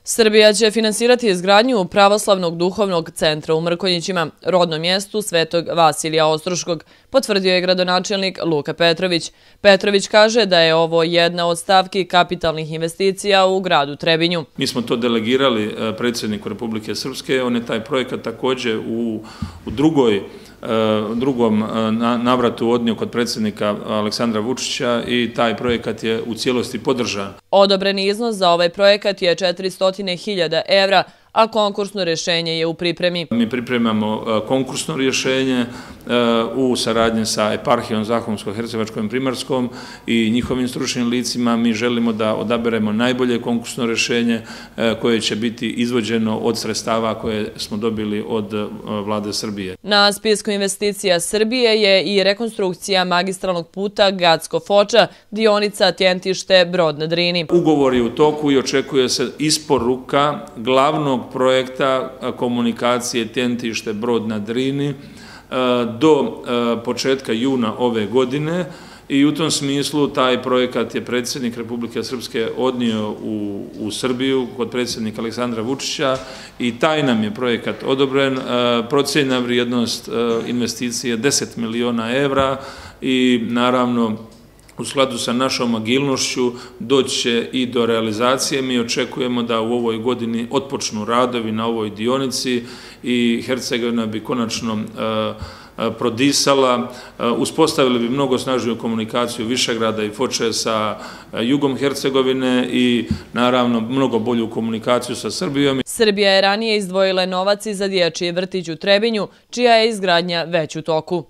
Srbija će finansirati izgradnju pravoslavnog duhovnog centra u Mrkonjićima, rodnom mjestu Svetog Vasilija Ostroškog, potvrdio je gradonačelnik Luka Petrović. Petrović kaže da je ovo jedna od stavki kapitalnih investicija u gradu Trebinju. Mi smo to delegirali predsjedniku Republike Srpske, on je taj projekat također u drugom navratu odnio kod predsjednika Aleksandra Vučića i taj projekat je u cijelosti podržan. Odobreni iznos za ovaj projekat je 400.000 evra, a konkursno rješenje je u pripremi. Mi pripremamo konkursno rješenje u saradnji sa eparhijom Zahumsko-Hercevačkom i Primarskom i njihovim stručnim licima. Mi želimo da odaberemo najbolje konkursno rješenje koje će biti izvođeno od sredstava koje smo dobili od vlade Srbije. Na spisku investicija Srbije je i rekonstrukcija magistralnog puta Gacko-Foča, dionica Tjentište-Brod na Drini. Ugovor je u toku i očekuje se isporuka glavnog projekta komunikacije Tjentište-Brod na Drini do početka juna ove godine i u tom smislu taj projekat je predsjednik Republike Srpske odnio u Srbiju kod predsjednika Aleksandra Vučića i taj nam je projekat odobren. Procijenjena vrijednost investicije je 10 miliona evra i naravno u skladu sa našom agilnošću doći će i do realizacije. Mi očekujemo da u ovoj godini otpočnu radovi na ovoj dionici i Hercegovina bi konačno prodisala, uspostavili bi mnogo snažniju komunikaciju Višegrada i Foče sa jugom Hercegovine i naravno mnogo bolju komunikaciju sa Srbijom. Srbija je ranije izdvojila novac i za dječji vrtić u Trebinju, čija je izgradnja već u toku.